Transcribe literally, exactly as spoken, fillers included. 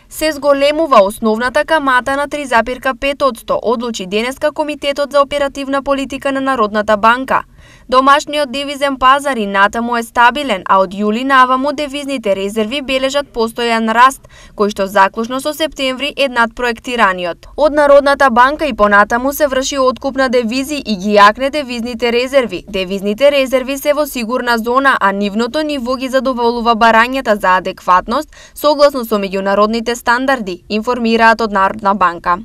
Се зголемува основната камата на три запирка пет одсто, одлучи денеска Комитетот за оперативна политика на Народната банка. Домашниот девизен пазар и натаму е стабилен, а од јули наваму девизните резерви бележат постојан раст, кој што заклучно со септември е над проектираниот. Од Народната банка и понатаму се врши откуп на девизи и ги јакне девизните резерви. Девизните резерви се во сигурна зона, а нивното ниво ги задоволува барањата за адекватност согласно со меѓународните стандарди, информираат од Народна банка.